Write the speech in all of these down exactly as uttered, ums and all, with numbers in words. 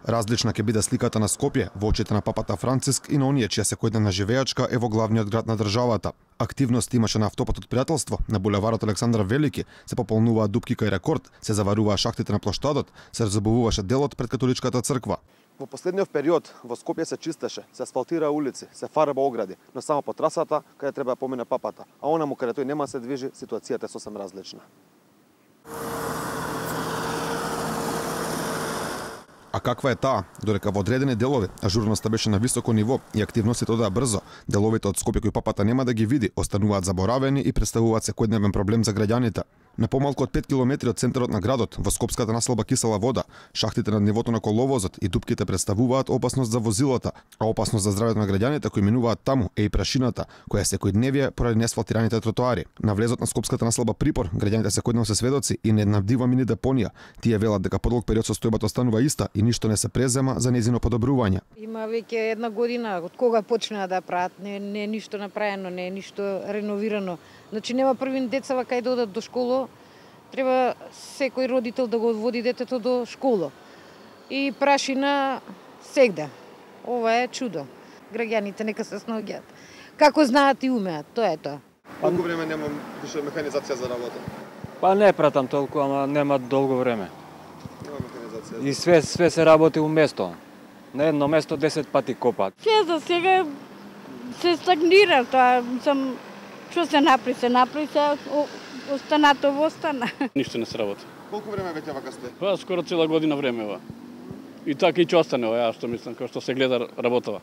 Различна ќе биде сликата на Скопје во очите на папата Франциск и на оние чија секојдневна живеачка е во главниот град на државата. Активност имаше на автопатот Пријателство, на булеварот Александар Велики, се пополнуваа дупки кај рекорд, се заваруваа шахтите на плоштадот, се разобуваше делот пред католичката црква. Во последниот период во Скопје се чистеше, се асфалтира улици, се фарба огради, но само по трасата каде треба да помине папата, а онаму каде тој нема се движи, ситуацијата е сосем различна. А каква е таа? Додека во одредени делови ажурноста беше на високо ниво и активностите одаа брзо, деловите од Скопје кои папата нема да ги види остануваат заборавени и представуваат секојдневен проблем за граѓаните. На помалку од пет километри од центарот на градот, во скопската населба Кисела вода, шахтите над нивото на коловозот и дупките представуваат опасност за возилата, а опасност за здравјето на граѓаните кои минуваат таму е и прашината, која е секојдневие поради неасфалтираните тротоари. На влезот на скопската населба Припор, граѓаните секојдневно се сведоци и не набдива мини депонија. Тие велат дека подолг период состојбата останува иста и ништо не се презема за нејзино подобрување. Има веќе една година од кога почнаа да прават, не не е ништо направено, не е ништо реновирано. Значи нема првин децава кај да одат до школа. Треба секој родител да го одводи детето до школа. И прашина сегде. Ова е чудо. Граѓаните нека се снаоѓаат. Како знаат и умеат, тоа е тоа. Колку време нема више механизација за работа? Па не пратам толку, ама нема долго време. Нема механизација. И све све се работи уместо. На едно место десет пати копаат. Се за сега се стагнира тоа, сам што се напри, се напри, се останато во остана. Ништо не се работи. Колку време веќе вака сте? Па скоро цела година време ова. И така и ќе остане ова, ја што мислам, како што се гледа работава.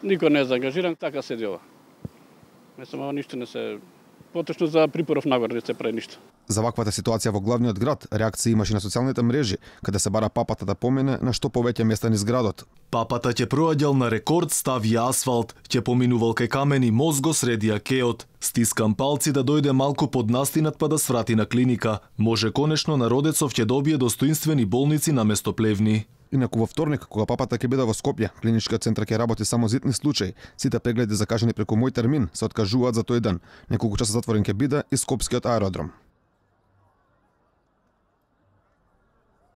Никој не е заангажиран, така седи ова. Мислам, ова ништо не се поточно за Припоров нагоре не се прави ништо. За ваквата ситуација во главниот град, реакции имаше на социјалните мрежи, каде се бара папата да помине на што повеќе места низ градот. Папата ќе проаѓал на рекорд, стави асфалт, ќе поминувал кај камени мост го средија кеот. Стискам палци да дојде малку под настинат па да сврати на клиника. Може конечно народецов ќе добие достоинствени болници наместо плевни. Инаку во вторник, кога папата ќе биде во Скопје, клиничкиот центар ќе работи само за итни случаи. Сите прегледи закажани преку мој термин се откажуваат за тој ден. Неколку часа затворен ќе биде и скопскиот аеродром.